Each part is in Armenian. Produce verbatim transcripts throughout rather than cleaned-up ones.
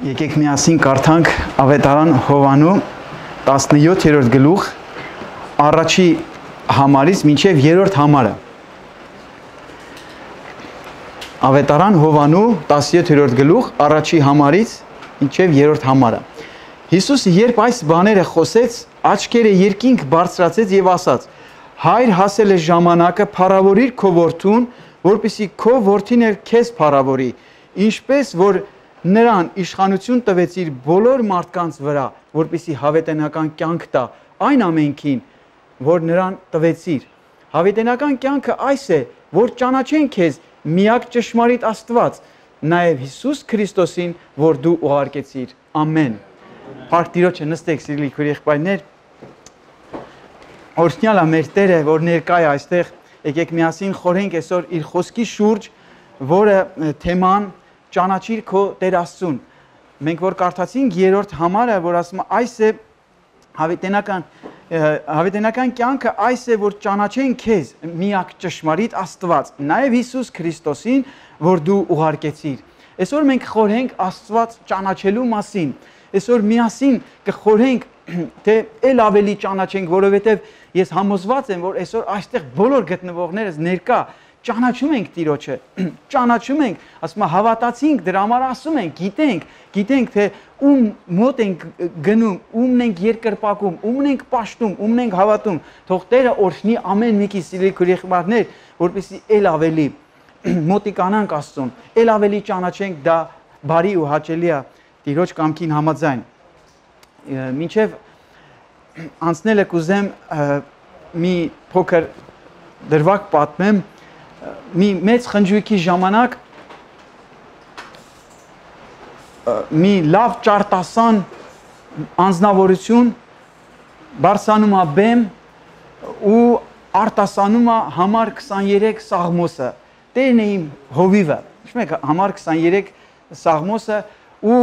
Եկեք միասին կարդանք Ավետարան Հովանու տասնյոթերորդ գլուխ առաջի համարից մինչև երրորդ համարը։ Ավետարան Հովանու տասնյոթերորդ գլուխ առաջի համարից մինչև երրորդ համարը։ Հիսուսը երբ այս բաները խոսեց, աչքերը երկինք բարձրացեց եւ ասաց. Հայր, հասել է ժամանակը, փառավորիր քո որդուն, որպեսզի քո որդին էլ քեզ փառավորի, ինչպես որ նրան իշխանություն տվեց իր բոլոր մարդկանց վրա, որպեսզի հավիտենական կյանք տա այն ամենքին, որ նրան տվեցիր։ Հավիտենական կյանքը այս է, որ ճանաչեն քեզ միակ ճշմարիտ Աստված, նաև Հիսուս Քրիստոսին, որ դու ուղարկեցիր։ Ամեն։ Փառք Տիրոջը, նստեք սիրելի քույր եղբայրներ։ Օրհնյալ է մեր Տերը, որ ներկա է այստեղ։ Եկեք միասին խորհենք այսօր իր խոսքի շուրջ, որը թեման ճանաչիր քո Տեր Աստծուն։ Մենք որ կարդացինք երրորդ համարը, որ ասում է այս է հավիտենական հավիտենական կյանքը, այս է, որ ճանաչեն քեզ միակ ճշմարիտ Աստված, նաև Հիսուս Քրիստոսին, որ դու ուղարկեցիր։ Այսօր մենք խորհենք Աստված ճանաչելու մասին։ Այսօր միասին կխորհենք, թե ել ավելի ճանաչենք, որովհետև ես համոզված եմ, որ այսօր այստեղ բոլոր գտնվողներս ներկա ճանաչում ենք Տիրոջը, ճանաչում ենք, ասում եմ հավատացինք, դրա համար ասում ենք, գիտենք, գիտենք թե ում մոտ ենք գնում, ումն ենք երկրպագում, ումն ենք պաշտում, ումն ենք հավատում, թող Տերը օրհնի ամեն մեկի սիրելի քույրեր, որպեսզի ել ավելի մոտիկանանք Աստծուն, ել ավելի ճանաչենք, դա բարի ու հաճելի է Տիրոջ կամքին համաձայն։ Մինչև անցնելը կուզեմ մի փոքր դրվագ պատմեմ, մի մեծ խնջույքի ժամանակ մի լավ ճարտասան անձնավորություն բարձանում է բեմ ու արտասանում է համար քսաներեք Սաղմոսը, Տերն է իմ հովիվը, համար քսաներեք Սաղմոսը ու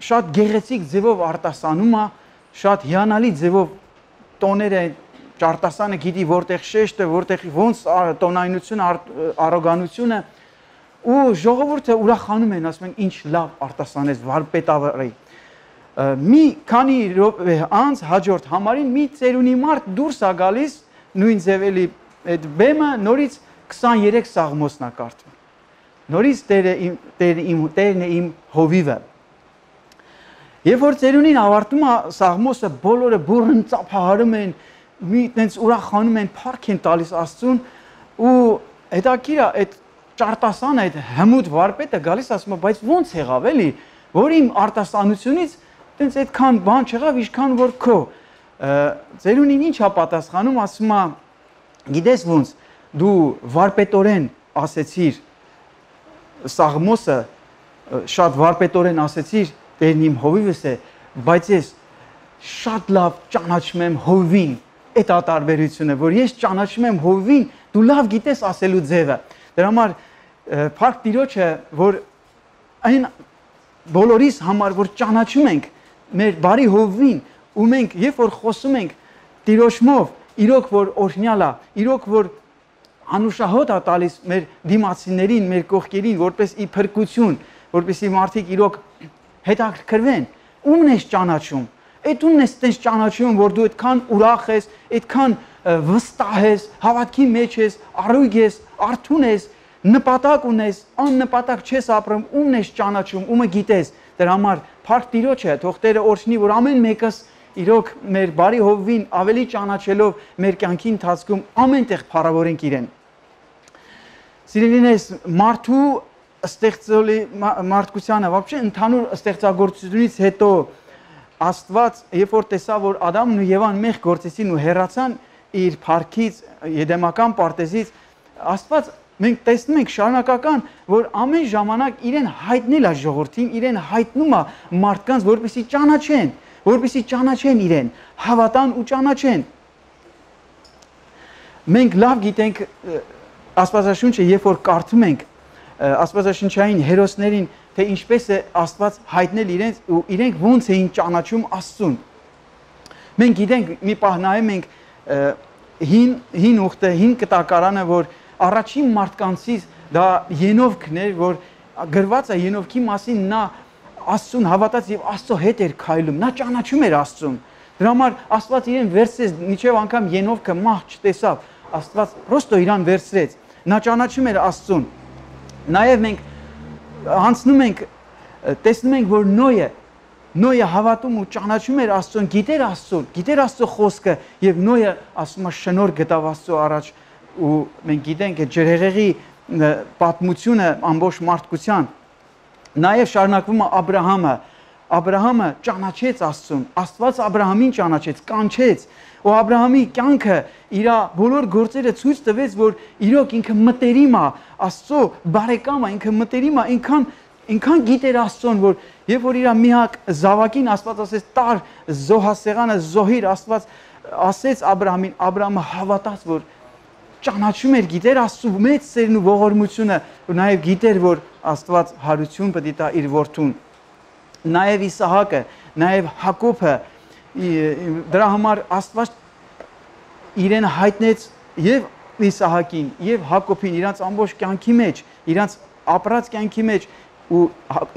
շատ գեղեցիկ ձևով արտասանում է, շատ հիանալի ձևով տոները ճարտասանը գիտի որտեղ շեշտը, որտեղ ոնց տոնայնությունը, առոգանությունը ու ժողովուրդը ուրախանում են, ասում են ինչ լավ արտասանեց վարպետավարի։ Մի քանի րոպե անց հաջորդ համարին մի ծերունի մարդ դուրս է գալիս, նույն ձևելի այդ բեմը նորից քսաներեք Սաղմոսն է կարդում։ Նորից Տերն է իմ հովիվը։ Երբ որ ծերունին ավարտում է Սաղմոսը, բոլորը բուռն ծափահարում են, մի տենց ուրախանում են, փառք են տալիս Աստծուն ու հետաքրքիր է այդ ճարտասանը, այդ հմուտ վարպետը գալիս ասում է, բայց ո՞նց եղավ էլի, որ իմ արտասանությունից տենց այդքան բան չեղավ, ինչքան որ քո։ Ծերունին ինչ է պատասխանում, ասում է, գիտես ո՞նց, դու վարպետորեն ասեցիր Սաղմոսը, շատ վարպետորեն ասեցիր, Տերն իմ հովիվս է, բայց ես շատ լավ ճանաչում եմ հովին, այդ ատարբերությունը, որ ես ճանաչում եմ հովին, դու լավ գիտես ասելու ձևը։ Դրա համար փառք Տիրոջը, որ այն բոլորիս համար, որ ճանաչում ենք մեր բարի հովին, ու մենք երբ որ խոսում ենք Տիրոջմով, իրոք որ օրհնյալ է, իրոք որ անուշահոտ է տալիս մեր դիմացիներին, մեր կողքերին, որպես ի փրկություն, որպեսզի մարդիկ իրոք հետաքրքրվեն, ումն ես ճանաչում, այդ ումն ես տենց ճանաչում, որ դու այդքան ուրախ ես, այդքան վստահ ես, հավատքի մեջ ես, առույգ ես, արթուն ես, նպատակ ունես, աննպատակ չես ապրում, ումն ես ճանաչում, ումը գիտես, դրա համար փառք Տիրոջը, թող Տերը օրհնի, որ ամեն մեկս իրոք մեր բարի հովին ավելի ճանաչելով մեր կյանքի ընթացքում ամենտեղ փառավորենք իրեն։ Սիրելիներս, մարդու ստեղծելի մարդկությանը, вообще ընդհանուր ստեղծագործությունից հետո Աստված, երբ որ տեսավ, որ Ադամն ու Եվան մեղ գործեցին ու հեռացան իր փառքից, Եդեմական պարտեզից, Աստված մենք տեսնում ենք շարունակական, որ ամեն ժամանակ իրեն հայտնել է ժողովրդին, իրեն հայտնում է մարդկանց, որպեսզի ճանաչեն, որպեսզի ճանաչեն իրեն, հավատան ու ճանաչեն։ Մենք լավ գիտենք Աստվածաշունչը, երբ որ կարդում ենք Աստվածաշնչային հերոսներին, թե ինչպես է Աստված հայտնել իրենց ու իրենք ոնց էին ճանաչում Աստծուն։ Մենք գիտենք, մի պահ նայում ենք հին հին ուխտը, հին կտակարանը, որ առաջին մարդկանցից դա Ենովքն էր, որ գրված է Ենովքի մասին, նա Աստծուն հավատաց եւ Աստծո հետ էր քայլում, նա ճանաչում էր Աստծուն։ Դրա համար Աստված իրեն վերցրեց, մինչև անգամ Ենովքը մահ չտեսավ, Աստված պրոստո իրան վերցրեց։ Նա ճանաչում էր Աստծուն։ Նաեւ մենք անցնում ենք, տեսնում ենք, որ Նոյը Նոյը հավատում ու ճանաչում էր Աստծուն, գիտեր Աստծուն, գիտեր Աստծո խոսքը եւ Նոյը ասում է շնորհ գտավ Աստծո առաջ ու մենք գիտենք այդ ջրհեղեղի պատմությունը ամբողջ մարդկության։ Նաեւ շարունակվում է Աբ รา համը, Աբ รา համը ճանաչեց Աստծուն, Աստված Աբ รา համին ճանաչեց, կանչեց, ու Աբ รา համի կյանքը իր բոլոր գործերը ցույց տվեց, որ իրոք ինքը մտերիմ է, Աստծո բարեկամ է, ինքը մտերիմ է, ինքան ինքան գիտեր Աստծուն, որ երբ որ իր միակ զավակին Աստված ասեց տար զոհասեղանը զոհիր, Աստված ասեց Աբ รา համին, Աբ รา համը հավատաց, որ ճանաչում էր, գիտեր Աստծո մեծ սերն ու ողորմությունը, ու նաև գիտեր, որ Աստված հարություն պետք է տա իր որդուն։ Նաև Իսահակը, նաև Հակոբը, դրա համար Աստված իրեն հայտնեց եւ Իսահակին, եւ Հակոբին իրանց ամբողջ կյանքի մեջ, իրանց ապրած կյանքի մեջ, ու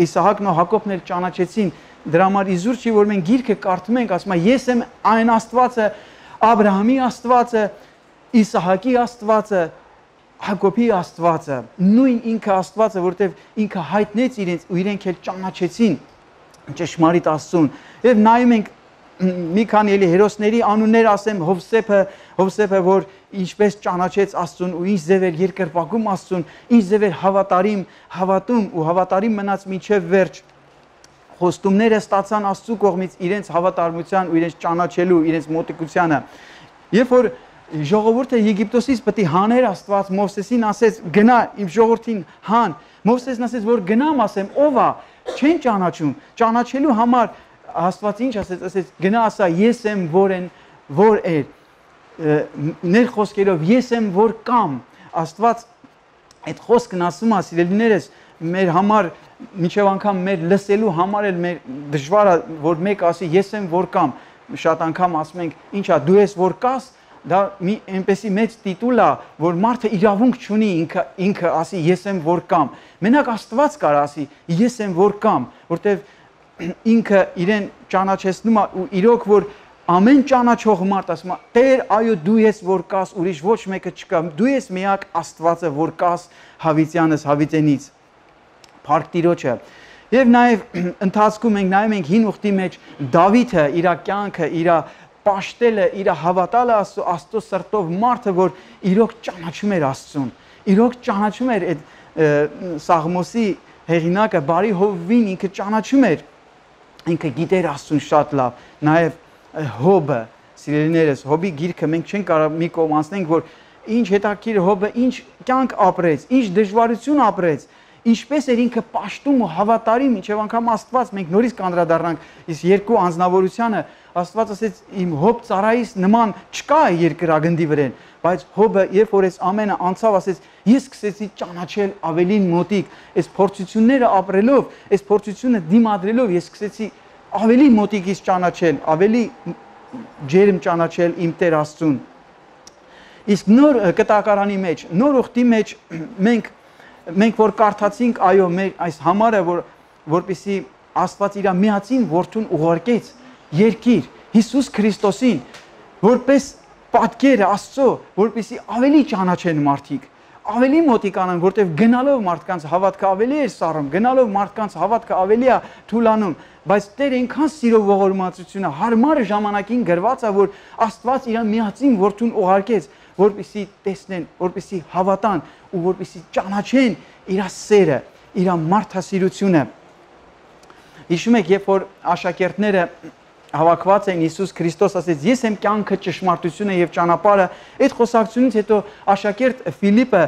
Իսահակն ու Հակոբն էլ ճանաչեցին։ Դրա համար իզուր չի, որ մենք գիրքը կարդում ենք, ասում է ես եմ այն Աստվածը, Աբ รา համի Աստվածը, Իսահակի Աստվածը, Հակոբի Աստվածը, նույն ինքը Աստվածը, որտեղ ինքը հայտնեց իրենց ու իրենք էլ ճանաչեցին ճշմարիտ Աստծուն։ Եվ նայում ենք մի քանի էլի հերոսների անուններ ասեմ, Հովսեփը, Հովսեփը, որ ինչպես ճանաչեց Աստծուն ու ինչ ձև էր երկրպագում Աստծուն, ինչ ձև էր հավատարիմ, հավատում ու հավատարիմ մնաց մինչև վերջ։ Խոստումները ստացան Աստծու կողմից իրենց հավատարմության ու իրենց ճանաչելու, իրենց մոտիկությանը։ Երբ որ ժողովուրդը Եգիպտոսից պետք է հաներ Աստված, Մովսեսին ասեց գնա իմ ժողովրդին հան, Մովսեսն ասեց որ գնամ ասեմ ով է, չեն ճանաչում, ճանաչելու համար Աստված ինչ ասեց, ասեց գնա ասա ես եմ որ են որ էր, ներ խոսքերով ես եմ որ կամ, Աստված այդ խոսքն ասում է սիրելիներս մեր համար մինչև անգամ մեր լսելու համար էլ մեր դժվար է որ մեկ ասի ես եմ որ կամ, շատ անգամ ասում ենք ինչա դու ես որ կաս, դա մի այնպեսի մեծ տիտուլ է, որ մարդը իրավունք չունի ինքը ինքը ասի ես եմ որ կամ, մենակ Աստված կարող ասի ես եմ որ կամ, որտեվ ինքը իրեն ճանաչեցնում է ու իրոք որ ամեն ճանաչող մարդ ասում է Տեր այո դու ես որ կաս, ուրիշ ոչ մեկը չկա, դու ես միակ Աստվածը որ կաս հավիտյանս հավիտենից, Փառք Տիրոջը։ Եվ նաև ընթացքում ենք նայում ենք հին ուխտի մեջ Դավիթը իր կյանքը, իր պաշտելը, իր հավատալը Աստծո, Աստծո սրտով մարդը, որ իրոք ճանաչում էր Աստծուն, իրոք ճանաչում էր այդ Սաղմոսի հեղինակը բարի Հովվին ինքը ճանաչում էր, ինքը գիտեր Աստծուն շատ լավ, նաև Հոբը, սիրելիներս, Հոբի գիրքը մենք չենք կարող մի կողմ անցնենք, որ ինչ հետաքրքիր Հոբը ինչ կյանք ապրեց, ինչ դժվարություն ապրեց, ինչպես էր ինքը պաշտում ու հավատարիմ, մինչև անգամ Աստված, մենք նորից կանդրադառնանք այս երկու անձնավորությանը, Աստված ասեց իմ Հոբ ծառայիս նման չկա երկրագնդի վրան, բայց Հոբը երբ որ այս ամենը անցավ, ասեց ես սկսեցի ճանաչել ավելին մոտիկ, այս փորձությունները ապրելով, այս փորձությունը դիմադրելով ես սկսեցի ավելի մոտիկից ճանաչել, ավելի ջերմ ճանաչել իմ Տեր Աստծուն։ Իսկ նոր կտակարանի մեջ, նոր ուխտի մեջ մենք մենք որ կարդացինք, այո, մեր այս համարը, որ որպեսի Աստված իր միածին որդուն ուղարկեց երկիր Հիսուս Քրիստոսին, որպես պատկեր Աստծո, որպեսի ավելի ճանաչեն մարդիկ, ավելի մոտիկանան, որտեղ գնալով մարդկանց հավատքը ավելի է սառում, գնալով մարդկանց հավատքը ավելի է թուլանում, բայց Տեր այնքան սիրով ողորմածությունը հարմար ժամանակին գրված է, որ Աստված իր միածին որդուն ուղարկեց, որպեսի տեսնեն, որպեսի հավատան ու որպեսի ճանաչեն իր սերը, իր մարդասիրությունը։ Հիշում եք, երբ որ աշակերտները հավաքված էին, Հիսուս Քրիստոս ասեց ես եմ կյանքը, ճշմարտությունը եւ ճանապարհը, այդ խոսակցությունից հետո աշակերտ Ֆիլիպը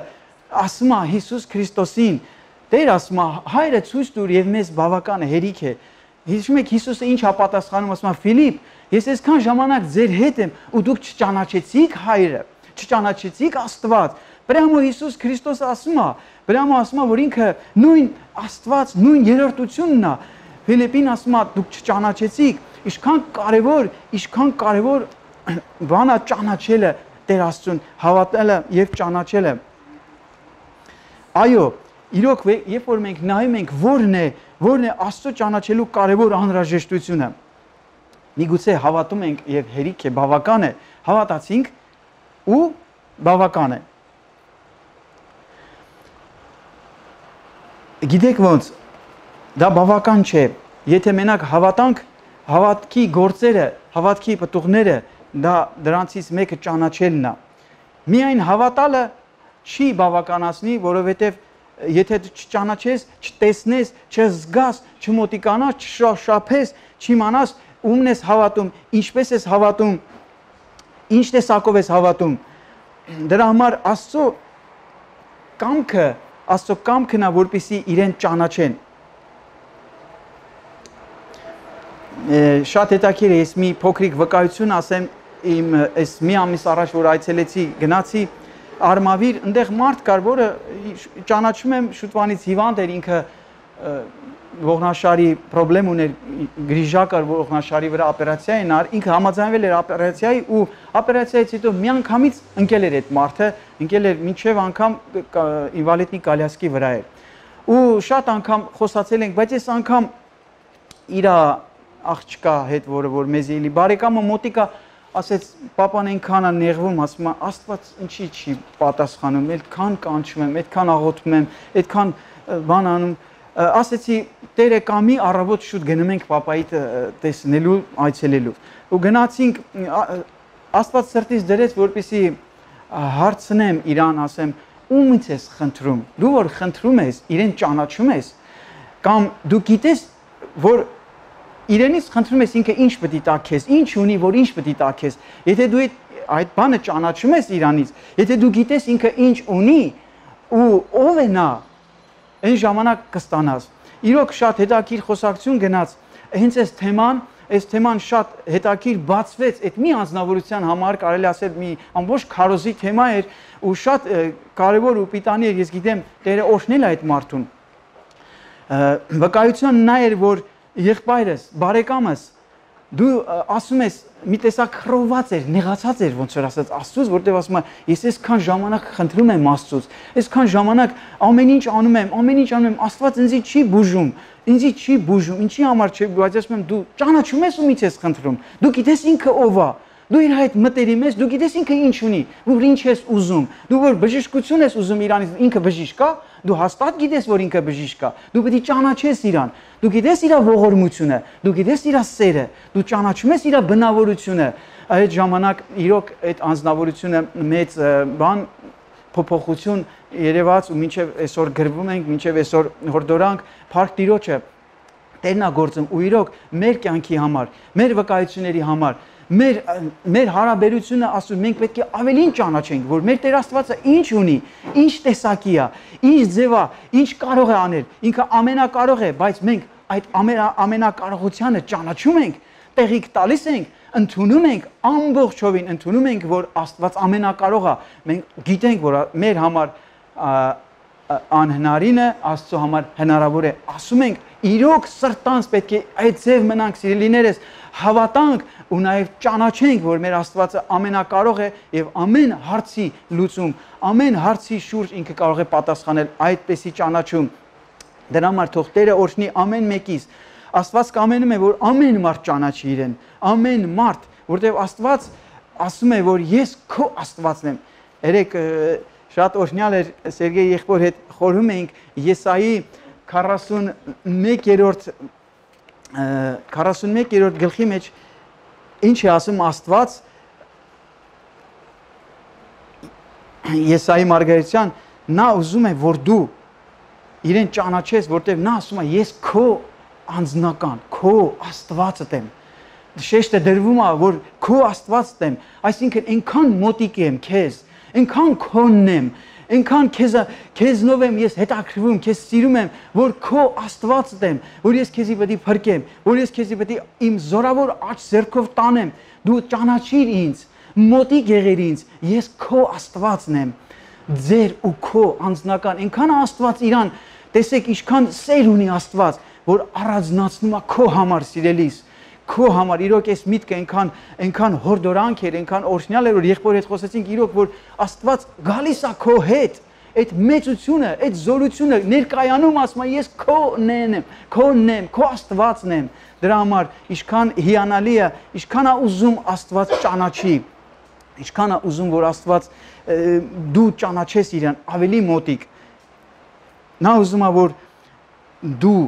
ասում է Հիսուս Քրիստոսին, Տեր ասում է հայրը ցույց տուր եւ մեզ բավական է, հերիք է։ Հիշում եք Հիսուսը ինչ ապատասխանում, ասում է Ֆիլիպ, ես այսքան ժամանակ ձեր հետ եմ ու դուք չճանաչեցիք հայրը, չճանաչեցիք Աստված։ Պրամո Հիսուս Քրիստոսը ասում է, Պրամո ասում է, որ ինքը նույն Աստված, նույն երրորդությունն է։ Ֆիլիպին ասում է դուք չճանաչեցիք, ինչքան կարևոր, ինչքան կարևոր բան է ճանաչելը Տեր Աստծուն, հավատալը եւ ճանաչելը։ Այո, իրոք երբ որ մենք նայում ենք որն է, որն է Աստծո ճանաչելու կարևոր անհրաժեշտությունը։ Միգուցե հավատում ենք եւ հերիք է, բավական է, հավատացինք ու բավական է։ Գիտեք ոնց, դա բավական չէ, եթե մենակ հավատանք, հավատքի գործերը, հավատքի պտուղները, դա դրանցից մեկը ճանաչելն է։ Միայն հավատալը չի բավականացնի, որովհետև եթե չճանաչես, չտեսնես, չզգաս, չմոտիկանաս, չշապես, չիմանաս ումն ես հավատում, ինչպես ես հավատում, ինչ տեսակով ես հավատում։ Դրա համար Աստծո կամքը, Աստծո կամքն է, որպեսզի իրեն ճանաչեն։ Շատ հետաքրքիր է, ես մի փոքրիկ վկայություն ասեմ, իմ այս մի ամիս առաջ որ այցելեցի, գնացի Արմավիր, այնտեղ մարդ կար, որը ճանաչում եմ շուտվանից հիվանդ էր, ինքը ողնաշարի խնդրեմ ուներ, գրիժա կար ողնաշարի վրա օպերացիա են ար, ինքը համաձայնվել էր օպերացիայի ու օպերացիայից հետո միանգամից ընկել էր այդ մարդը, ընկել էր մինչև անգամ ինվալիդի կալյասկի վրա էր։ Ու շատ անգամ խոսացել ենք, բայց այս անգամ իր աղջկա հետ, որը որ մեզ էլի բարեկամը մոտիկա ասեց, պապան այնքան է նեղվում, ասում է, Աստված ինչի չի պատասխանում, այդքան կանչում եմ, այդքան աղոթում եմ, այդքան բան անում, ասեցի, Տերը կամի առավոտ շուտ գնում ենք պապայիդ տեսնելու, այցելելու։ Ու գնացինք, Աստված սրտից դրեց, որպեսզի հարցնեմ իրան, ասեմ, ումից ես խնդրում, դու որ խնդրում ես, իրեն ճանաչում ես, կամ դու գիտես, որ իրենից խնդրում ես ինքը ինչ պետք է տա քեզ, ինչ ունի, որ ինչ պետք է տա քեզ։ Եթե դու այդ բանը ճանաչում ես իրանից, եթե դու գիտես ինքը ինչ ունի ու ով է նա, այն ժամանակ կստանաս։ Իրոք շատ հետաքրքիր խոսակցություն գնաց, հենց այս թեման, այս թեման շատ հետաքրքիր բացվեց, այդ մի անձնավորության համար կարելի ասել մի ամբողջ քարոզի թեմա էր ու շատ կարևոր ու պիտանի էր, ես գիտեմ, Տերը օրհնել է այդ մարդուն։ Վկայությունը նա էր, որ եղբայրս, բարեկամս, դու ասում ես մի տեսակ խռովված էր, նեղացած էր, ոնց որ ասած Աստծուց, որտեղ ասում է, ես այսքան ժամանակ խնդրում եմ Աստծուց, այսքան ժամանակ ամեն ինչ անում եմ, ամեն ինչ անում եմ, Աստված ինձի չի բուժում, ինձի չի բուժում, ինչի համար չէ, բայց ասում եմ դու ճանաչում ես ումից ես խնդրում, դու գիտես ինքը ով է, դու իր հետ մտերիմ ես, դու գիտես ինքը ինչ ունի, որ ինչ ես ուզում, դու որ բժշկություն ես ուզում իրանից, ինքը բժիշկ է, դու հաստատ գիտես, որ ինքը բժիշկ է, դու պետք է ճանաչես իրան, դու գիտես իր ողորմությունը, դու գիտես իր սերը, դու ճանաչում ես իր բնավորությունը, այդ ժամանակ իրոք այդ անձնավորությունը մեծ բան փոփոխություն երևաց ու մինչև այսօր գրվում ենք, մինչև այսօր հորդորանք, Փառք Տիրոջը Տերն է գործում ու իրոք մեր կյանքի համար, մեր վկայությունների համար, մեր մեր հարաբերությունը ասում մենք պետք է ավելին ճանաչենք, որ մեր Տեր Աստվածը ինչ ունի, ինչ տեսակի է, ինչ ձև է, ինչ կարող է անել, ինքը ամենակարող է, բայց մենք այդ ամենակարողությանը ճանաչում ենք, տեղիք տալիս ենք, ընդունում ենք, ամբողջովին ընդունում ենք, որ Աստված ամենակարող է, մենք գիտենք, որ մեր համար անհնարինը Աստծո համար հնարավոր է, ասում ենք, իրոք սրտանց պետք է այդ ձև մնանք, սիրելիներս, հավատանք ու նաև ճանաչենք, որ մեր Աստվածը ամենակարող է եւ ամեն հարցի լուծում, ամեն հարցի շուրջ ինքը կարող է պատասխանել, այդպեսի ճանաչում։ Դրա համար թող Տերը օրհնի ամեն մեկից։ Աստված կամենում է, որ ամեն մարդ ճանաչի իրեն, ամեն մարդ, որտեղ Աստված ասում է, որ ես քո Աստվածն եմ։ Երեք շատ օրհնյալ էր Սերգեյ եղբոր հետ խորհում էինք Եսայի քառասունմեկերորդ քառասունմեկերորդ գլխի մեջ ինչ է ասում Աստված Եսայի Մարգարեթյան, նա ուզում է, որ դու իրեն ճանաչես, որտեղ նա ասում է, ես քո անձնական, քո Աստվածդ եմ։ Շեշտը դրվում է, որ քո Աստվածդ եմ, այսինքն այնքան մոտիկ եմ քեզ, այնքան քոնն եմ, այնքան քեզ քեզնով եմ ես հետաքրվում, քեզ սիրում եմ, որ քո Աստվածդ եմ, որ ես քեզի պետք է փրկեմ, որ ես քեզի պետք է իմ զորավոր աջ ձեռքով տանեմ, դու ճանաչիր ինձ, մոտիկ եղիր ինձ, ես քո Աստվածն եմ, ձեր ու քո անձնական, այնքան Աստված իրան, տեսեք ինչքան սեր ունի Աստված, որ առանձնացնում է քո համար սիրելիս, քո համար իրոք այս միտքը այնքան այնքան հորդորանք էր, այնքան օրհնյալ էր, որ եղբոր հետ խոսեցինք իրոք, որ Աստված գալիս է քո հետ, այդ մեծությունը, այդ զորությունը ներկայանում ասում է ես քոնն եմ, քոնն եմ, քո Աստվածն եմ։ Դրա համար ինչքան հիանալի է, ինչքան է ուզում Աստված ճանաչի, ինչքան է ուզում որ Աստված դու ճանաչես իրան ավելի մոտիկ։ Նա ուզում է որ դու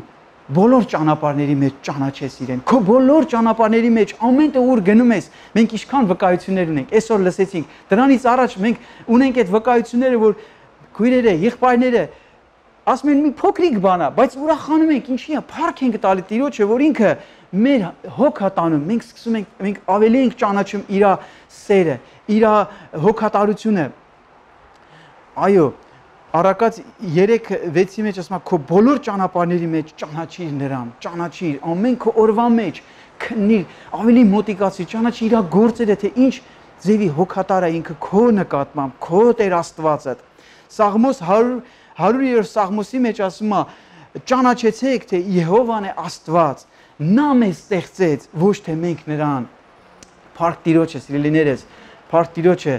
բոլոր ճանապարհների մեջ ճանաչես իրեն։ Քո բոլոր ճանապարհների մեջ ամեն տեղ ուր գնում ես, մենք ինչքան վկայություններ ունենք։ Այսօր լսեցինք, դրանից առաջ մենք ունենք այդ վկայությունները, որ քույրերը, եղբայրները ասում են մի փոքրիկ բան է, բայց ուրախանում ենք, ինչի է, փառք ենք տալի Տիրոջը, որ ինքը մեր հոգա տանում, մենք սկսում ենք, մենք ավելի ենք ճանաչում իր սերը, իր հոգատարությունը։ Այո, Առակաց երեք վեցի մեջ ասում է քո բոլոր ճանապարհների մեջ ճանաչիր նրան, ճանաչիր ամեն քո օրվա մեջ քննիր, ավելի մոտիկացիր, ճանաչիր իր գործերը, թե ինչ ձևի հոգատար է ինքը քո նկատմամբ, քո Տեր Աստվածը։ Սաղմոս հարյուրերորդ Սաղմոսի մեջ ասում է ճանաչեցեք, թե Եհովան է Աստված, նա մեզ ստեղծեց, ոչ թե մենք նրան։ Փառք Տիրոջը, սիրելիներս, փառք Տիրոջը։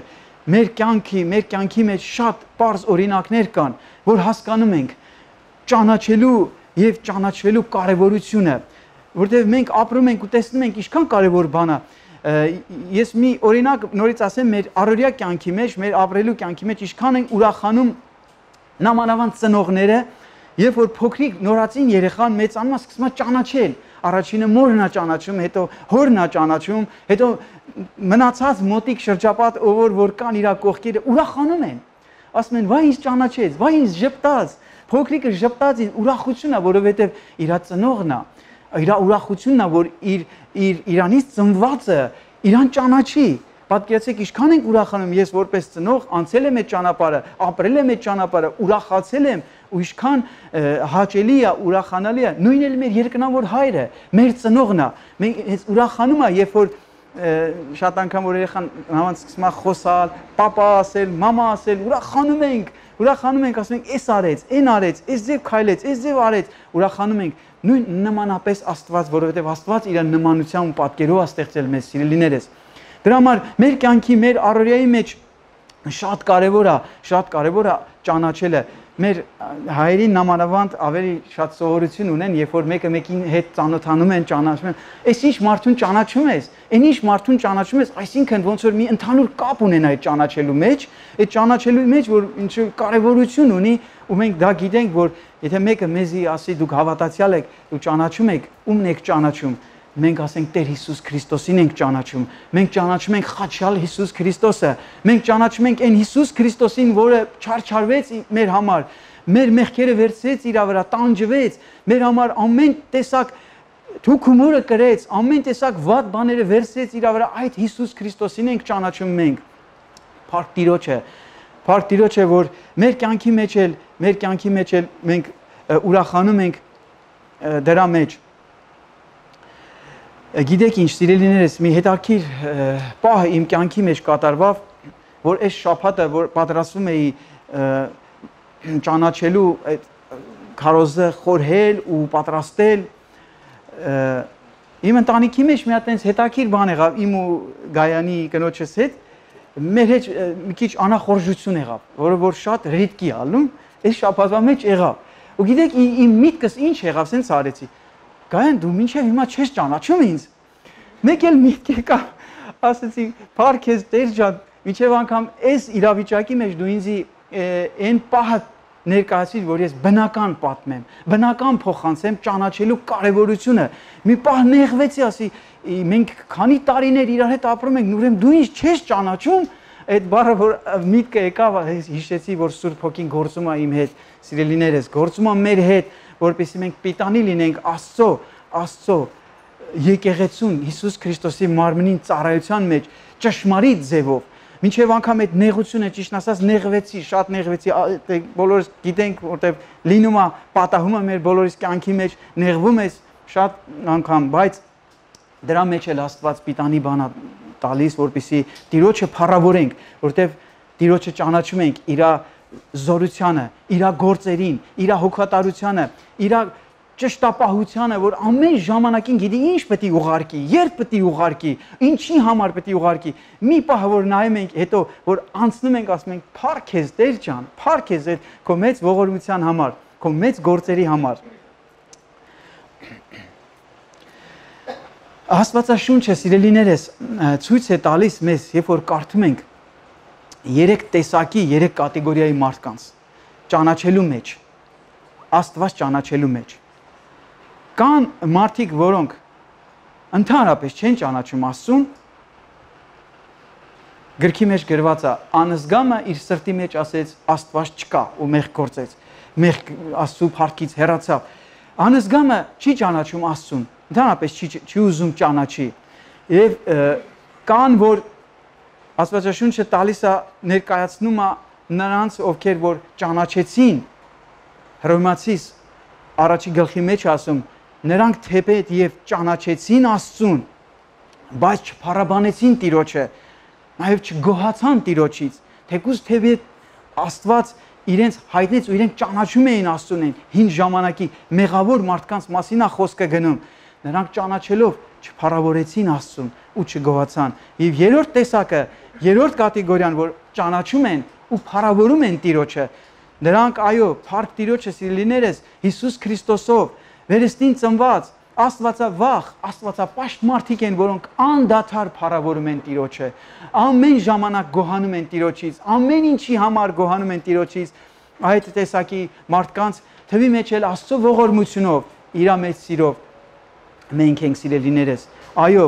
Մեր կյանքի, մեր կյանքի մեջ շատ պարզ օրինակներ կան, որ հասկանում ենք ճանաչելու եւ ճանաչվելու կարեւորությունը, որտեղ մենք ապրում ենք ու տեսնում ենք ինչքան կարեւոր բան է։ Ես մի օրինակ նորից ասեմ մեր առօրյա կյանքի մեջ, մեր ապրելու կյանքի մեջ ինչքան են ուրախանում նամանավանդ ծնողները, երբ որ փոքրիկ նորածին երեխան մեծանում է, սկսում է ճանաչել։ Առաջինը մորն է ճանաչում, հետո հորն է ճանաչում, հետո մնացած մոտիկ շրջապատ ով որ կան իր կողքերը ուրախանում են։ Ասում են՝ «Վայ ինձ ճանաչեց, վայ ինձ ժպտաց»։ Փոքրիկը ժպտաց, ուրախությունն է, որովհետև իր ծնողն է, իր ուրախությունն է, որ իր իր իրանից ծնվածը իրան ճանաչի։ Պատկերացեք ինչքան ենք ուրախանում, ես որպես ծնող անցել եմ այդ ճանապարհը, ապրել եմ այդ ճանապարհը, ուրախացել եմ ու ինչքան հաճելի է, ուրախանալի է։ Նույնն էլ մեր երկնավոր հայրը, մեր ծնողն է։ Մենք հենց ուրախանում է, երբ որ շատ անգամ որ երեխան նավանց սկսում է խոսալ, պապա ասել, մամա ասել, ուրախանում ենք, ուրախանում ենք, ասում ենք՝ «Էս արեց, այն արեց, էս ձև քայլեց, էս ձև արեց», ուրախանում ենք։ Նույն նմանապես Աստված, որովհետև Աստված իր նմանությամբ ու պատկերով է ստեղծել մեզ, սիրելիներս։ Դրա համար մեր կյանքի, մեր առօրյայի մեջ շատ կարևոր է, շատ կարևոր է ճանաչելը։ Մեր հայերին նամանավանդ ավելի շատ սովորություն ունեն, երբ որ մեկը մեկին հետ ծանոթանում են, ճանաչում են, «Էս ինչ մարդուն ճանաչում ես, այն ինչ մարդուն ճանաչում ես», այսինքն ոնց որ մի ընդհանուր կապ ունեն այդ ճանաչելու մեջ, այդ ճանաչելու մեջ, որ ինչ կարևորություն ունի, ու մենք դա գիտենք, որ եթե մեկը մեզի ասի դուք հավատացյալ եք, ու ճանաչում եք, ումն եք ճանաչում, մենք ասենք Տեր Հիսուս Քրիստոսին ենք ճանաչում, մենք ճանաչում ենք խաչյալ Հիսուս Քրիստոսը, մենք ճանաչում ենք այն Հիսուս Քրիստոսին, որը չարչարվեց մեր համար, մեր մեղքերը վերցրեց իր վրա, տանջվեց, մեր համար ամեն տեսակ թուքումուրը կրեց, ամեն տեսակ վատ բաները վերցրեց իր վրա, այդ Հիսուս Քրիստոսին ենք ճանաչում մենք։ Փառք Տիրոջը, փառք Տիրոջը, որ մեր կյանքի մեջ էլ, մեր կյանքի մեջ էլ մենք ուրախանում ենք դրա մեջ։ Գիտեք ինչ, սիրելիներս, մի հետաքրքիր պահ իմ կյանքի մեջ կատարվավ, որ այս շաբաթը, որ պատրաստվում էի ճանաչելու այդ քարոզը խորհել ու պատրաստել, իմ ընտանիքի մեջ մի հատ այնց հետաքրքիր բան եղավ իմ ու Գայանի կնոջս հետ, մեր հետ մի քիչ անախորժություն եղավ, որը որ շատ ռիդկի ալնում, այս շաբաթվա մեջ եղավ։ Ու գիտեք իմ միտքս ինչ եղավ, սենց արեցի։ Գայան դու մինչև հիմա չես ճանաչում ինձ։ Մեկ էլ միտք եկավ, ասեցի, «Փառք քեզ Տեր ջան, մինչև անգամ այս իրավիճակի մեջ դու ինձ այն պահը ներկայացրիր, որ ես բնական պատմեմ, բնական փոխանցեմ ճանաչելու կարևորությունը»։ Մի պահ նեղվեցի, ասի, մենք քանի տարիներ իրար հետ ապրում ենք, ուրեմն դու ինձ չես ճանաչում։ Այդ բառը որ միտքը եկավ, հիշեցի, որ Սուրբ Հոգին գործում է իմ հետ, սիրելիներս, գործում է մեր հետ, որպեսզի մենք պիտանի լինենք Աստծո, Աստծո եկեղեցուն, Հիսուս Քրիստոսի մարմնին ծառայության մեջ ճշմարիտ ձևով։ Մինչև անգամ այդ նեղությունը, ճիշտ ասած, նեղվեցի, շատ նեղվեցի, բոլորս գիտենք, որտեղ լինում է, պատահում է մեր բոլորիս կյանքի մեջ, նեղվում ես շատ անգամ, բայց դրա մեջ էլ Աստված պիտանի բան է տալիս, որպեսզի Տիրոջը փառավորենք, որտեղ Տիրոջը ճանաչում ենք իր զորությանը, իր գործերին, իր հոգատարությանը, իր ճշտապահությանը, որ ամեն ժամանակին գիտի ինչ պետք է ուղարկի, երբ պետք է ուղարկի, ինչի համար պետք է ուղարկի։ Մի պահ որ նայում ենք, հետո որ անցնում ենք, ասում ենք՝ «Փառք քեզ Տեր ջան, փառք քեզ այդ քո մեծ ողորմության համար, քո մեծ գործերի համար»։ Աստվածաշունչը, սիրելիներս, ցույց է տալիս մեզ, երբ որ կարդում ենք երեք տեսակի, երեք կատեգորիայի մարդկանց ճանաչելու մեջ, Աստված ճանաչելու մեջ։ Կան մարդիկ, որոնք ընդհանրապես չեն ճանաչում Աստծուն, գրքի մեջ գրված է, անզգամը իր սրտի մեջ ասեց Աստված չկա ու մեղք գործեց, մեղք Աստծու փառքից հեռացավ։ Անզգամը չի ճանաչում Աստծուն, ընդհանրապես չի, չի ուզում ճանաչի։ Եվ կան, որ Աստվածաշունչը տալիս է, ներկայացնում է նրանց, ովքեր որ ճանաչեցին, Հռոմեացիս առաջի գլխի մեջ ասում, նրանք թեպետ եւ ճանաչեցին Աստծուն, բայց չփառաբանեցին Տիրոջը, նաեւ չգոհացան Տիրոջից, թեկուզ թեպետ Աստված իրենց հայտնեց ու իրենք ճանաչում էին Աստծուն, հին ժամանակի մեղավոր մարդկանց մասին է խոսքը գնում, նրանք ճանաչելով չփառավորեցին Աստծուն ու չգոհացան։ Եվ երրորդ տեսակը, երրորդ կատեգորիան, որ ճանաչում են ու փառավորում են Տիրոջը, նրանք այո, փառք Տիրոջը, սիրելիներս, Հիսուս Քրիստոսով վերստին ծնված Աստվածավախ, Աստվածապաշտ մարդիկ են, որոնք անդադար փառավորում են Տիրոջը, ամեն ժամանակ գոհանում են Տիրոջից, ամեն ինչի համար գոհանում են Տիրոջից, այդ տեսակի մարդկանց թվի մեջ էլ Աստծո ողորմությունով, իր մեծ սիրով մենք ենք սիրելիներս։ Այո,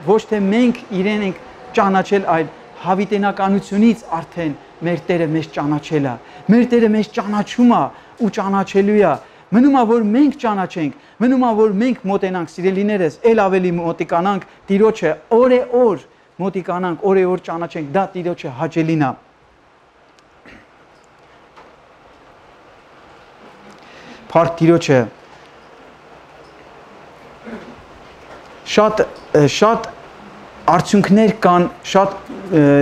ոչ թե մենք իրեն ենք ճանաչել, այլ հավիտենականությունից արդեն մեր Տերը մեզ ճանաչել է, մեր Տերը մեզ ճանաչում է ու ճանաչելու է։ Մնում է, որ մենք ճանաչենք, մնում է, որ մենք մոտենանք, սիրելիներս, ել ավելի մոտիկանանք Տիրոջը, օր-է-օր մոտիկանանք, օր-է-օր ճանաչենք, դա Տիրոջը հաճելին է։ Փառք Տիրոջը։ Շատ շատ արդյունքներ կան, շատ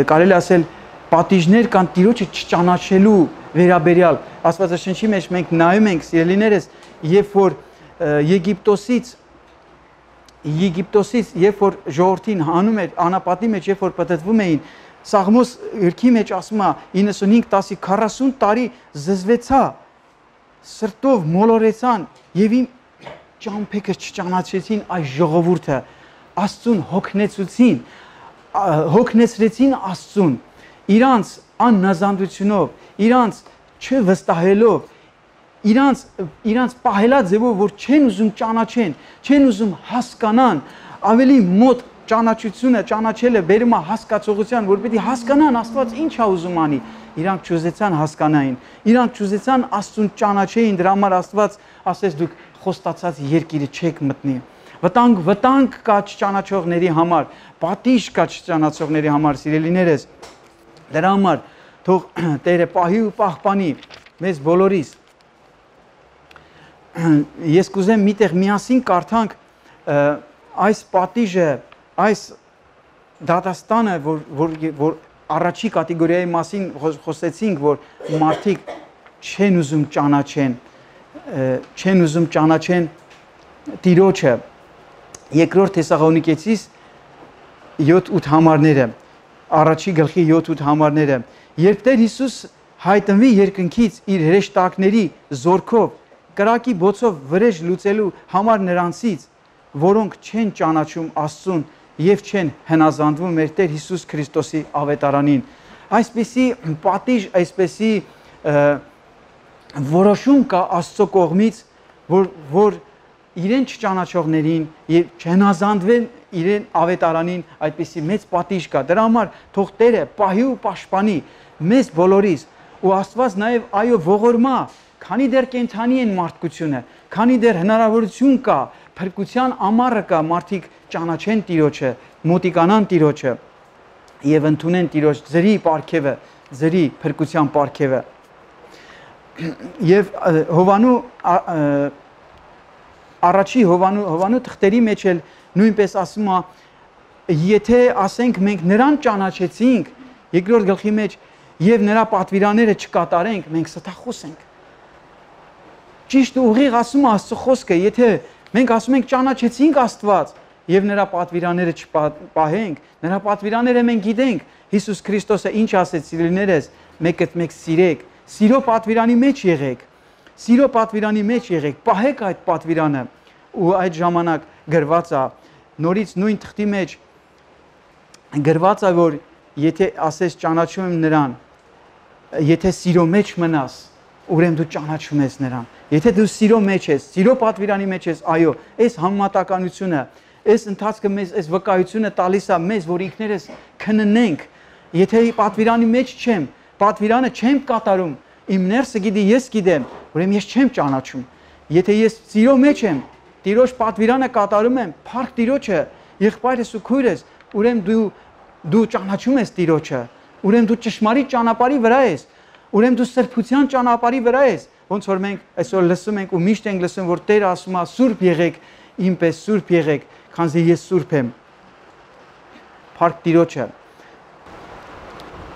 կարելի ասել պատիժներ կան Տիրոջը չճանաչելու վերաբերյալ։ Աստվածաշնչի մեջ մենք նայում ենք, սիրելիներս, երբ որ Եգիպտոսից Եգիպտոսից երբ որ ժողովրդին հանում էր անապատի մեջ, երբ որ պատտվում էին, Սաղմոս գրքի մեջ ասում է իննսունհինգ տասի քառասուն տարի զզվեցա, սրտով մոլորեցան եւ իմ ճամփեքը չճանաչեցին այս ժողովուրդը, Աստծուն հոգնեցուցին, հոգնեցրեցին Աստծուն, իրանց աննազանդությունով, իրանց չվստահելով, իրանց իրանց պահելա ձևով, որ չեն ուզում ճանաչեն, չեն ուզում հասկանան, ավելի մոտ ճանաչությունը, ճանաչելը բերում է հասկացողության, որ պետք է հասկանան Աստված ինչ է ուզում անի, իրանք չուզեցան հասկանային, իրանք չուզեցան Աստծուն ճանաչեին, դրա համար Աստված ասեց դուք խոստացած երկիրը չեք մտնի։ Վտանգ, վտանգ կա չճանաչողների համար, պատիժ կա չճանաչողների համար, սիրելիներս։ Դրա համար թող Տերը պահի ու պահպանի մեզ բոլորիս։ Ես կուզեմ միտեղ միասին կարդանք այս պատիժը, այս դատաստանը, որ, որ, որ առաջի կատեգորիայի մասին խոսեցինք, որ մարդիկ չեն ուզում ճանաչեն, չեն ուզում ճանաչեն Տիրոջը։ Երկրորդ Թեսաղոնիկեցիս յոթ-ութ համարները, առաջի գլխի յոթ-ութ համարները, երբ Տեր Հիսուս հայտնվի երկնքից իր հրեշտակների զորքով, կրակի բոցով վրեժ լուծելու համար նրանցից, որոնք չեն ճանաչում Աստծուն եւ չեն հնազանդվում մեր Տեր Հիսուս Քրիստոսի ավետարանին։ Այսպիսի պատիժ, այսպիսի որոշում կա Աստծո կողմից, որ որ իրեն չճանաչողներին եւ չհնազանդվեն իրեն ավետարանին, այդպիսի մեծ պատիժ կա։ Դրա համար թող Տերը պահի ու պաշտպանի մեզ բոլորիս ու Աստված նաեւ այո ողորմա, քանի դեռ կենթանի են մարդկությունը, քանի դեռ հնարավորություն կա, փրկության ամառը կա, մարդիկ ճանաչեն Տիրոջը, մոտիկանան Տիրոջը եւ ընդունեն Տիրոջ ձրի պարգևը, ձրի փրկության պարգևը։ Եվ Հովանու առաջի Հովանու Հովանու թղթերի մեջ էլ նույնպես ասում է, եթե ասենք մենք նրան ճանաչեցինք, երկրորդ գլխի մեջ եւ նրա պատվիրանները չկատարենք, մենք ստախոս ենք։ ճիշտ ու ուղիղ ասում է Աստծո խոսքը, եթե մենք ասում ենք ճանաչեցինք Աստված եւ նրա պատվիրանները չպահենք, նրա պատվիրանները մենք գիտենք, Հիսուս Քրիստոսը ինչ ասեց սիրելիներս, մեկդ մեկ սիրեք, սիրո պատվիրանի մեջ եղեք, սիրո պատվիրանի մեջ եղեք, պահեք այդ պատվիրանը ու այդ ժամանակ գրված է նորից նույն թղթի մեջ գրված է որ եթե ասես ճանաչում եմ նրան, եթե սիրո մեջ մնաս, ուրեմն դու ճանաչում ես նրան։ Եթե դու սիրո մեջ ես, սիրո պատվիրանի մեջ ես, այո, այս համեմատականությունը, այս ընթացքը մեզ, այս վկայությունը տալիս է մեզ, որ ինքներս քննենք, եթե պատվիրանի մեջ չեմ, պատվիրանը չեմ կատարում, իմ ներսը գիտի, ես գիտեմ, ուրեմն ես չեմ ճանաչում։ Եթե ես սիրո մեջ եմ, Տիրոջ պատվիրանը կատարում եմ, փառք Տիրոջը, եղբայրս ու քույրս, ուրեմն դու դու ճանաչում ես Տիրոջը, ուրեմն դու ճշմարիտ ճանապարհի վրա ես, ուրեմն դու սրբության ճանապարհի վրա ես, ոնց որ մենք այսօր լսում ենք ու միշտ ենք լսում, որ Տերը ասում է սուրբ եղեք, ինպես սուրբ եղեք, քանզի ես սուրբ եմ։ Փառք Տիրոջը։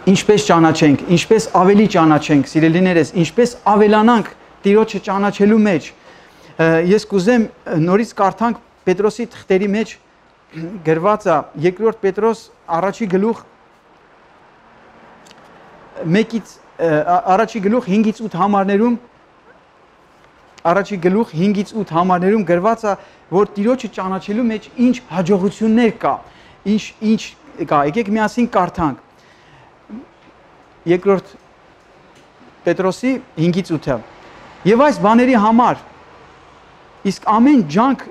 Ինչպես ճանաչենք, ինչպես ավելի ճանաչենք, սիրելիներս, ինչպես ավելանանք Տիրոջը ճանաչելու մեջ։ Ես կուզեմ նորից կարդանք Պետրոսի թղթերի մեջ գրված է երկրորդ Պետրոս առաջի գլուխ մեկից առաջի գլուխ հինգից ութ համարներում առաջի գլուխ հինգից ութ համարներում գրված է որ Տիրոջը ճանաչելու մեջ ինչ հաջողություններ կա, ինչ ինչ կա։ Եկեք միասին կարդանք երկրորդ Պետրոսի հինգից ութը։ Եվ այս բաների համար իսկ ամեն ջանք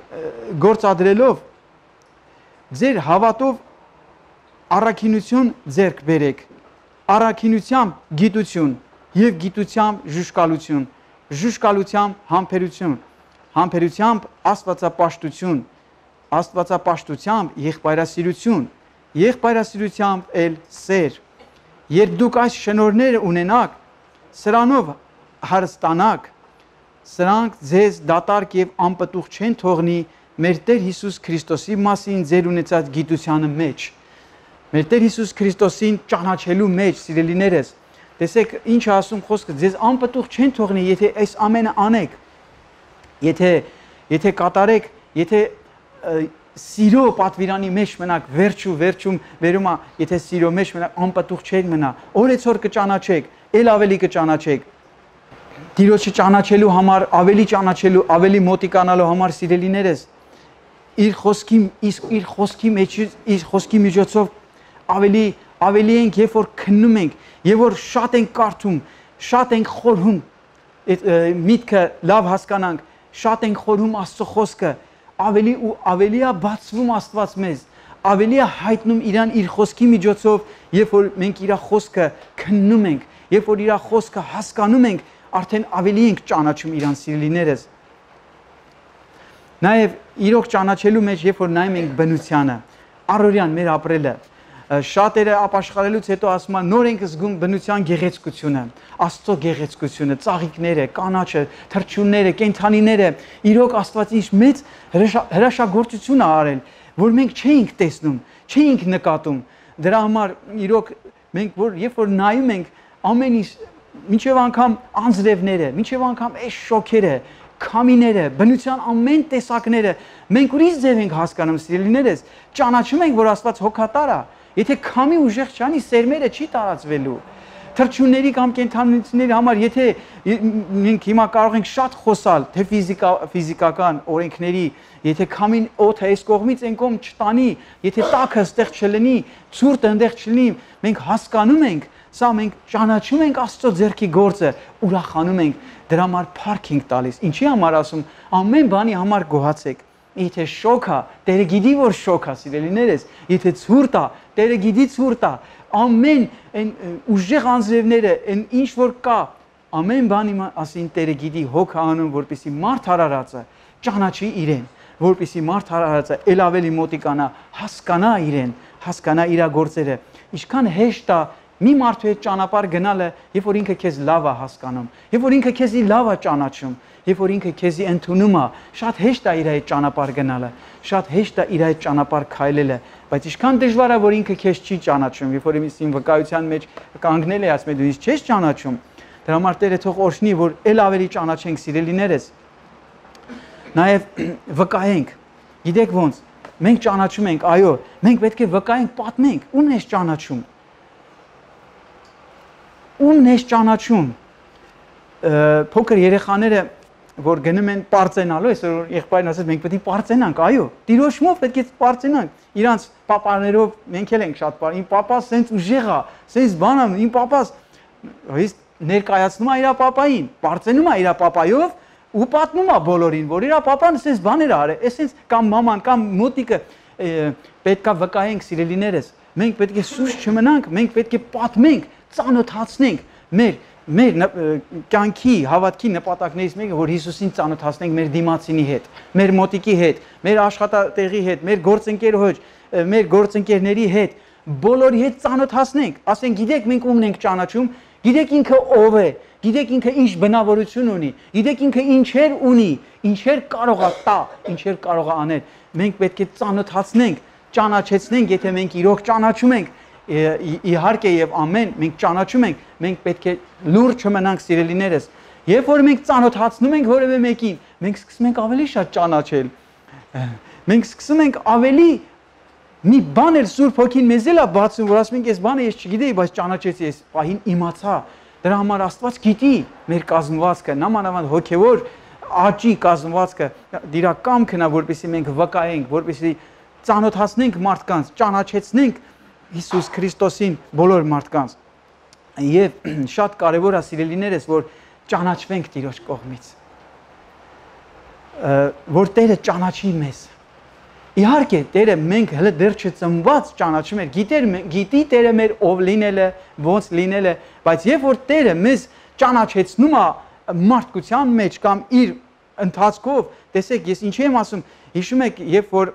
գործադրելով ձեր հավատով առաքինություն ձեռք բերեք, առաքինությամբ գիտություն եւ գիտությամբ ժուժկալություն, ժուժկալությամբ համբերություն, համբերությամբ աստվածապաշտություն, աստվածապաշտությամբ եղբայրասիրություն, եղբայրասիրությամբ էլ սեր։ Երբ դուք այս շնորհները ունենաք, սրանով հարստանաք, սրանք ձեզ դատարկ եւ անպտուղ չեն թողնի մեր Տեր Հիսուս Քրիստոսի մասին ձեր ունեցած գիտությանը մեջ։ Մեր Տեր Հիսուս Քրիստոսին ճանաչելու մեջ, սիրելիներս, տեսեք ինչ ասում խոսքը, ձեզ անպտուղ չեն թողնի, եթե այս ամենը անեք։ Եթե եթե կատարեք, եթե սիրո պատվիրանի մեջ մնաք, վերջու վերջում վերում է, եթե սիրո մեջ մնաք, անպտուղ չեք մնա, օրեցօր կճանաչեք, ել ավելի կճանաչեք։ Տիրոջը ճանաչելու համար, ավելի ճանաչելու, ավելի մոտիկանալու համար սիրելիներս, իր խոսքի իր խոսքի մեջ իր խոսքի միջոցով ավելի ավելի ենք, երբ որ քննում ենք, երբ որ շատ ենք կարդում, շատ ենք խորհում, այդ միտքը լավ հասկանանք, շատ ենք խորհում Աստծո խոսքը, ավելի ու ավելի է բացվում Աստված մեզ, ավելի է հայտնում իրան իր խոսքի միջոցով, երբ որ մենք իր խոսքը քննում ենք, երբ որ իր խոսքը հասկանում ենք, արդեն ավելի ենք ճանաչում իրան սիրելիներս։ Նաև իրոք ճանաչելու մեջ, երբ որ նայում ենք բնությանը, առօրյան մեր ապրելը, շատերը ապաշխարելուց հետո ասում են նոր ենք զգում բնության գեղեցկությունը, Աստծո գեղեցկությունը, ծաղիկները, կանաչը, թռչունները, կենդանիները, իրոք Աստված ինչ մեծ հրաշագործություն է արել, որ մենք չէինք տեսնում, չէինք նկատում։ Դրա համար իրոք մենք որ երբ որ նայում ենք ամեն ինչ մինչև անգամ անձրևները, մինչև անգամ այս շոքերը, քամիները, բնության ամեն տեսակները, մենք ուրիշ ձև ենք հասկանում սիրելիներս, ճանաչում ենք, որ Աստված հոգատար է, եթե քամի ուժեղ չանի, սերմերը չի տարածվելու։ Թռչունների կամ կենդանիների համար, եթե մենք հիմա կարող ենք շատ խոսալ, թե ֆիզիկա, ֆիզիկական օրենքների, եթե քամին օդը այս կողմից այն կողմ չտանի, եթե տաքը ստեղ չլինի, ցուրտը այնտեղ չլինի, մենք հասկանում ենք, սա մենք ճանաչում ենք Աստծո ձեռքի գործը, ուրախանում ենք, դրա համար փառք ենք տալիս։ Ինչի համար ասում, ամեն բանի համար գոհացեք։ Եթե շոք է, Տերը գիտի որ շոք է, սիրելիներս, եթե ցուրտ է, Տերը գիտի ցուրտ է, ամեն այն ուժեղ անձրևները, այն ինչ որ կա, ամեն բանի ասին Տերը գիտի հոգ անում, որպեսզի մարդ հարարածը ճանաչի իրեն, որպեսզի մարդ հարարածը ել ավելի մոտիկանա, հասկանա իրեն, հասկանա իր գործերը։ Ինչքան հեշտ է մի մարդու հետ ճանապարհ գնալը, երբ որ ինքը քեզ լավ է հասկանում, երբ որ ինքը քեզի լավ է ճանաչում, երբ որ ինքը քեզի ընդունում է, շատ հեշտ է իր հետ ճանապարհ գնալը, շատ հեշտ է իր հետ ճանապարհ քայլելը, բայց ինչքան դժվար է որ ինքը քեզ չի ճանաչում, երբ որ իմին վկայության մեջ կանգնել է ասում դու ինձ չես ճանաչում, Դրա համար Տերը թող օրհնի, որ ել ավելի ճանաչենք սիրելիներս։ Նաև վկայենք։ Գիտեք ոնց, մենք ճանաչում ենք, այո, մենք պետք է վկայենք, պատմենք, ո՞ւմն է ճանաչում։ Ո՞ւմն է ճանաչում։ Փոքր երեխաները, որ գնում են պարծենալու, այսօր եղբայրն ասեց, մենք պետք է պարծենանք, այո, Տիրոջով պետք է պարծենանք։ Իրանց պապաներով մենք էլ ենք շատ պար։ Իմ պապաս սենց ուժեղ է, սենց բան է, իմ պապաս հիսկ ներկայացնում է իր պապային, պարծենում է իր պապայով ու պատմում է բոլորին, որ իր պապան սենց բաներ է արել, այսպես կամ մաման կամ մոտիկը պետքա վկայենք սիրելիներս։ Մենք պետք է սուրճ չմնանք, մենք պետք է պատմենք, ծանոթացնենք մեր մեր կյանքի հավատքի նպատակներից մեկը, որ Հիսուսին ծանոթացնենք մեր դիմացինի հետ, մեր մոտիկի հետ, մեր աշխատատեղի հետ, մեր գործընկերոջ, մեր գործընկերների հետ, բոլորի հետ ծանոթացնենք, ասենք գիտեք մենք ում ենք ճանաչում, գիտեք ինքը ով է, գիտեք ինքը ինչ բնավորություն ունի, գիտեք ինքը ինչեր ունի, ինչեր կարող է տա, ինչեր կարող է անել։ Մենք պետք է ծանոթացնենք, ճանաչեցնենք, եթե մենք իրոք ճանաչում ենք, իհարկե եւ ամեն մենք ճանաչում ենք, մենք պետք է լուրջ չմնանք սիրելիներս։ Երբ որ մենք ծանոթացնում ենք որևէ մեկին, մենք սկսում ենք ավելի շատ ճանաչել։ Մենք սկսում ենք ավելի մի բան էլ Սուրբ Հոգին մեզ էլ է բացում, որ ասում ենք, այս բանը ես չգիտեի, բայց ճանաչեցի, այս պահին իմացա։ Դրա համար Աստված գիտի մեր կազմվածքը, նամանավանդ հոգևոր աճի կազմվածքը, դրա կամքն է, որպեսզի մենք վկայենք, որպեսզի ծանոթացնենք մարդկանց, ճանաչեցնենք Հիսուս Քրիստոսին բոլոր մարդկանց։ Եվ շատ կարևոր է սիրելիներս, որ ճանաչվենք Տիրոջ կողմից, որ Տերը ճանաչի մեզ։ Իհարկե Տերը մենք հələ դեռ չծնված ճանաչում էր, գիտեր գիտի Տերը մեր ով լինելը, ոնց լինելը, բայց երբ որ Տերը մեզ ճանաչեցնում է մարդկության մեջ կամ իր ընթացքով, տեսեք, ես ինչ եմ ասում, հիշում եք, երբ որ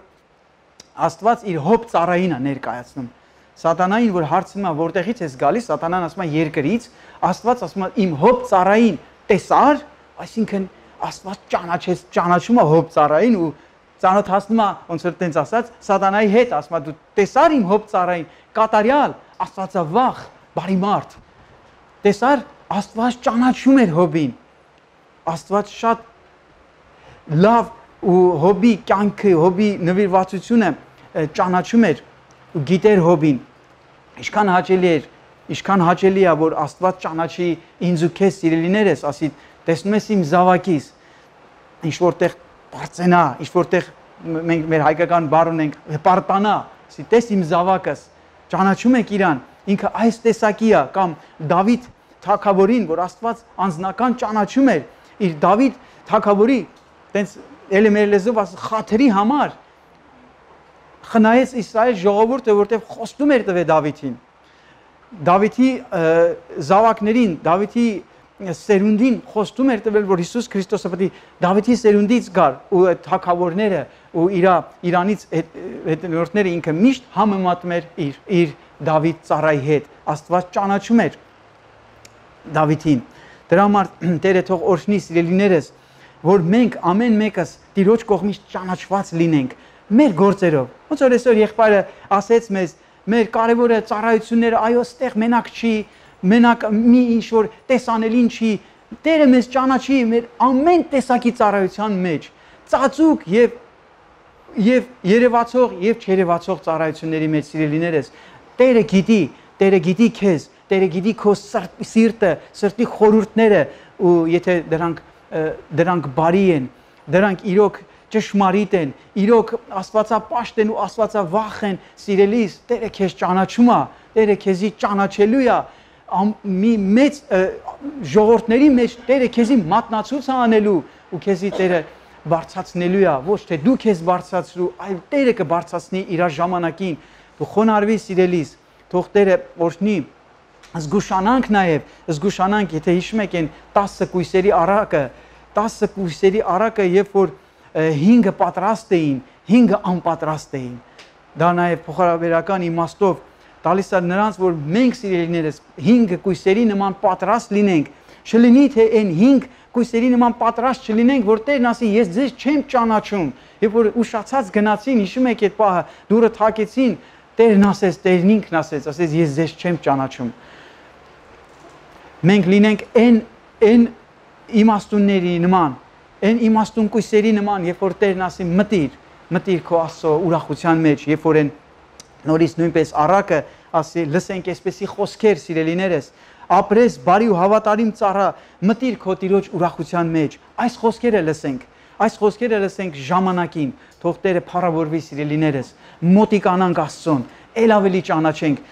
Աստված իր հոբ ծառային է ներկայացնում, Սատանային, որ հարցնում է, որտեղից ես գալիս, Սատանան ասում է երկրից, Աստված ասում է իմ հոբ ծառային տեսար, այսինքն Աստված ճանաչեց, ճանաչում է հոբ ծառային ու ծանոթացնում է, ոնց որ տենց ասած, Սատանայի հետ, ասում է դու տեսար իմ հոբ ծառային, կատարյալ, Աստվածավախ, բարի մարդ։ Տեսար, Աստված ճանաչում էր հոբին։ Աստված շատ լավ ու հոբի կյանքը, հոբի նվիրվածությունը ճանաչում էր ու գիտեր հոբին։ Ինչքան հաճելի էր, ինչքան հաճելի է, որ Աստված ճանաչի ինձ ու քեզ սիրելիներս, ասի, տեսնում ես իմ զավակիս, ինչ որտեղ բարձենա, ինչ որտեղ մենք մեր հայկական բառ ունենք, հպարտանա, ասի, տես իմ զավակս, ճանաչում եք իրան, ինքը այս տեսակի է, կամ Դավիթ թագավորին, որ Աստված անձնական ճանաչում էր, իր Դավիթ թագավորի, տենց էլի մեր լեզվով ասում, խաթրի համար խնայեց Իսրայել ժողովուրդը, որտեղ խոստում էր տվել Դավիթին։ Դավիթի զավակներին, Դավիթի սերունդին խոստում էր տվել, որ Հիսուս Քրիստոսը պետք է Դավիթի սերունդից գար ու այդ թագավորները ու իր Իրանից հետնորդները ինքը միշտ համեմատում էր իր իր Դավիթ ծառայի հետ։ Աստված ճանաչում էր Դավիթին։ Դրա համար Տերը թող օրհնի սիրելիներս, որ մենք ամեն մեկս Տիրոջ կողմից ճանաչված լինենք մեր գործերով։ Ոնց որ այսօր եղբայրը ասեց մեզ, մեր կարևորը ծառայությունները, այո, ստեղ մենակ չի, մենակ մի ինչ որ տեսանելին չի, Տերը մեզ ճանաչի մեր ամեն տեսակի ծառայության մեջ, ծածուկ եւ եւ երևացող եւ չերևացող ծառայությունների մեջ սիրելիներս, Տերը գիտի, Տերը գիտի քեզ, Տերը գիտի քո սիրտը, սրտի խորհուրդները ու եթե դրանք դրանք բարի են, դրանք իրոք ճշմարիտ են, իրոք աստվածապաշտ են ու աստվածավախ են, սիրելիս, Տերը քեզ ճանաչում է, Տերը քեզի ճանաչելու է, մի մեծ ժողովրդների մեջ Տերը քեզի մատնացույց է անելու ու քեզի Տերը բարձրացնելու է, ոչ թե դու քեզ բարձրացրու, այլ Տերը կբարձրացնի իր ժամանակին, դու խոնարհվի սիրելիս, թող Տերը օրհնի, զգուշանանք նաև, զգուշանանք, եթե հիշում եք այն տասը կույսերի առակը, տասը կույսերի առակը, երբ որ հինգը պատրաստ էին, հինգը անպատրաստ էին։ Դա նաև փոխարաբերական իմաստով տալիս է նրանց, որ մենք սիրելիներս հինգը կույսերի նման պատրաստ լինենք, չլինի թե այն հինգ կույսերի նման պատրաստ չլինենք, որ Տերն ասի, ես ձեզ չեմ ճանաչում, երբ որ ուշացած գնացին, հիշում եք այդ պահը, դուռը թակեցին, Տերն ասեց, Տերն ինքն ասեց, ասեց, ես ձեզ չեմ ճանաչում։ մենք լինենք այն այն իմաստունների նման, այն իմաստուն կույսերի նման, երբ որ Տերն ասի մտիր, մտիր քո Աստծո ուրախության մեջ, երբ որ են նորից նույնպես առակը ասի լսենք այսպեսի խոսքեր, սիրելիներս, ապրես բարի ու հավատարիմ ծառա, մտիր քո Տիրոջ ուրախության մեջ, այս խոսքերը լսենք, այս խոսքերը լսենք ժամանակին, թող Տերը փառավորվի սիրելիներս, մոտիկանանք Աստծուն, ել ավելի ճանաչենք,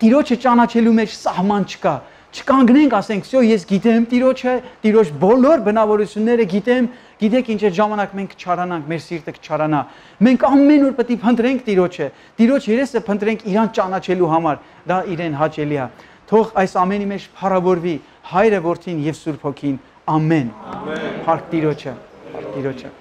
Տիրոջը ճանաչելու մեջ սահման չկա, չկանգնենք, ասենք, «Սյո, ես գիտեմ Տիրոջը, Տիրոջ բոլոր բնավորությունները գիտեմ, գիտեք ինչ այդ ժամանակ մենք չարանանք, մեր սիրտը չարանա։ Մենք ամեն օր պետք է փնտրենք Տիրոջը, Տիրոջ երեսը փնտրենք իրան ճանաչելու համար, դա իրեն հաճելի է։ Թող այս ամենի մեջ փառավորվի Հայրը, Որդին եւ Սուրբ Հոգին։ Ամեն։ Ամեն։ Փառք Տիրոջը, Տիրոջը։